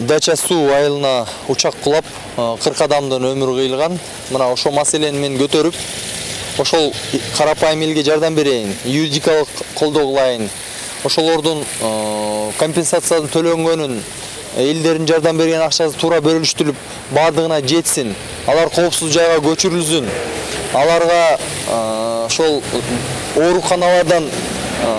Дача суу айылына учак кулап 40 адамдын өмүрү кыйылган. Мына ошол маселени мен көтөрүп, ошол карапайым элге жардам берейин, юридикалык колдоо кылайын. Ошолордун компенсациянын төлөнгөнүн, элдердин жардам берген акчасы туура бөлүштүрүлүп, бардыгына жетсин. Алар коопсуз жайга көчүрүлсүн. Аларга ошол ооруканалардан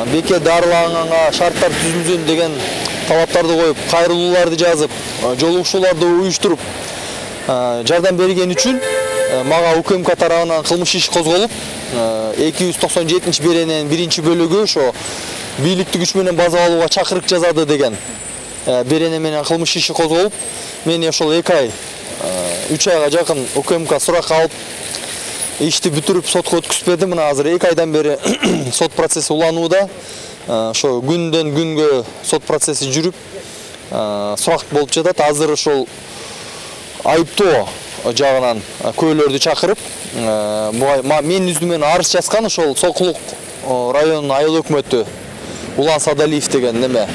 бекер дарыланганга шарттар түзүлсүн деген талаптарды коюп, кайрылууларды жазып, жолугушууларды уюштуруп жардам берген үчүн мага УКМК тарабынан кылмыш иши козголуп, 297-берененин 1-бөлүгү ошо бийликтик күч менен база алууга чакырык жасады деген берене менен кылмыш иши козголуп, мени ошол 2 ай, 3 айга жакын УКМК суракка алып, ишти бүтүрүп сотко өткүзбөдү. Мына азыр 2 айдан бери сот процесси уланууда. Ошо күндөн күнгө сот процесси жүрүп, сурак болуп жатат. Азыр ошол айыптоо жагынан көөлөрдү чакырып, менин үстүмөн арыз жазган ошол Сокулук районунун айыл өкмөтү Улан Садалиев деген неме.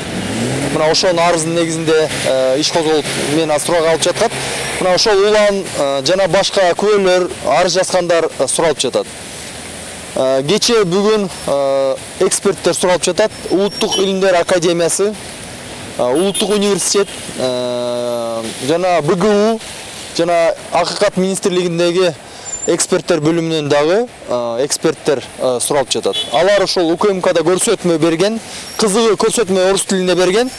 Мына ошонун арыздын негизинде иш козголуп, мен сурак алып жатат. Мына ошол Улан жана башка көөлөр, арыз жазгандар суралып жатат. Кече бүгүн эксперттер суралып жатат. Улуттук илимдер академиясы, Улуттук университет жана БГУ жана Акыйкат министрлигиндеги эксперттер бөлүмүнөн дагы эксперттер суралып жатат. Алар ошол УКМКда көрсөтмө берген, кызыгы көрсөтмө орус тилинде берген.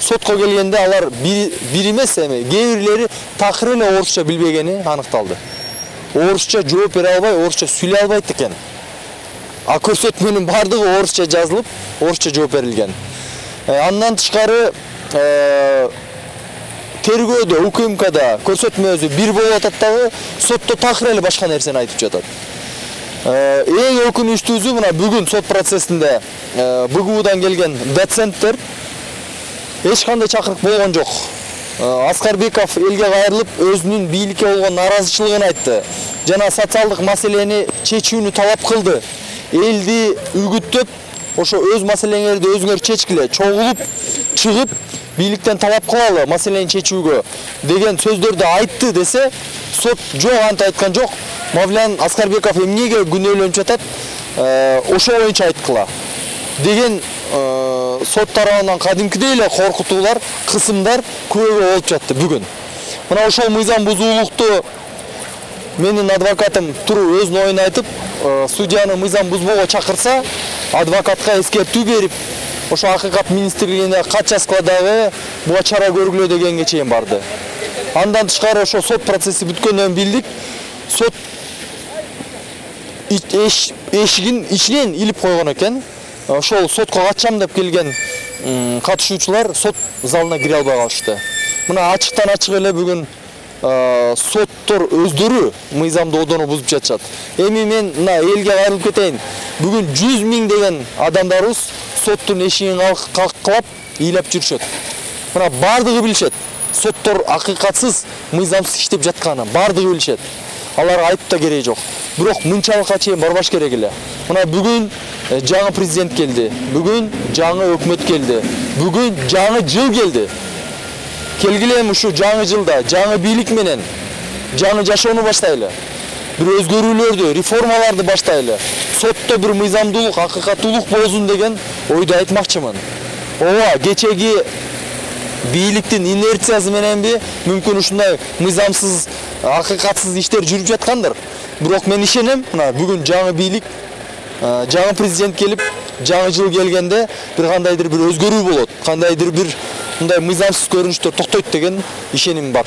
Сотко келгенде алар бир эмес эми, кээ бирлери такыр эле орусча билбегени аныкталды. Орусча жооп бере албай, орусча сүйлөй албайт экен. А көрсөтмөнүн бардыгы орусча жазылып, орусча жооп берилген. Андан тышкары тергөөдө УКМКда көрсөтмөсү бир болуп атат дагы, сотто такыр эле башка нерсени айтып жатат. Эң өкүнүчтүүсү мына бүгүн сот процессинде БГУдан келген доценттер эч кандай чакырык болгон жок. Аскарбеков элге кайрылып, өзүнүн бийликке болгон наразычылыгын айтты. Жана социалдык маселени чечүүнү талап кылды. Элди үгүттөп, ошо өз маселеңерди өзүңөр чечкиле, чогулуп, чыгып, бийликтен талап кылалы маселени чечүүгө деген сөздөрдү айтты десе, сот жок, антип айткан жок. Мавлян Аскарбеков эмнеге күнөөлөнүп жатат, ошо боюнча айткыла деген сот тарабынан кадимкидей эле коркутуулар, кысымдар көбөйгө болуп жатты бүгүн. Мына ошол мыйзам бузуулукту менин адвокатым туруп өзүнүн оюн айтып, судьяны мыйзам бузбоого чакырса, адвокатка эскертүү берип, ошо Акыйкат министрлигине кат жазгыла дагы буга чара көргүлө дегенге чейин барды. Андан тышкары ошо сот процесси бүткөндөн билдик, сот эшигин ичинен илип койгон экен. Ошол сотко катышам деп келген катышуучулар сот залына кире албай калышты. Мына ачыктан ачык эле бүгүн соттор өздөрү мыйзамды одоно бузуп жатышат. Эми мен мына элге кайрылып кетейин. Бүгүн 100 000 деген адамдарыбыз соттун эшигин калкалап, ыйлап жүрүшөт. Мына бардыгы билишет. Соттор акыйкатсыз, мыйзамсыз иштеп жатканын бардыгы билишет. Аларга айтып да кереги жок. Бирок мынчалыкка чейин барбаш керек эле. Мына бүгүн жаңы президент келди. Бүгүн жаңы өкмөт келди. Бүгүн жаңы жыл келди. Келгиле ушу жаңы жылда жаңы бийлик менен жаңы жашоону баштайлы. Бир өзгөрүүлөрдү, реформаларды баштайлы. Сотто бир мыйзамдуулук, акыйкаттуулук болсун деген ойду айтмакчымын. Ооба, кечеги бийликтин инерциясы мененби мүмкүн ушундай мыйзамсыз, акыйкатсыз иштер жүрүп жаткандыр. Бирок мен ишенем, мына бүгүн жаңы бийлик, жаңы президент келип, жаңы жыл келгенде бир кандайдыр бир өзгөрүү болот, кандайдыр бир мындай мыйзамсыз көрүнүштөр токтойт деген ишеним бар.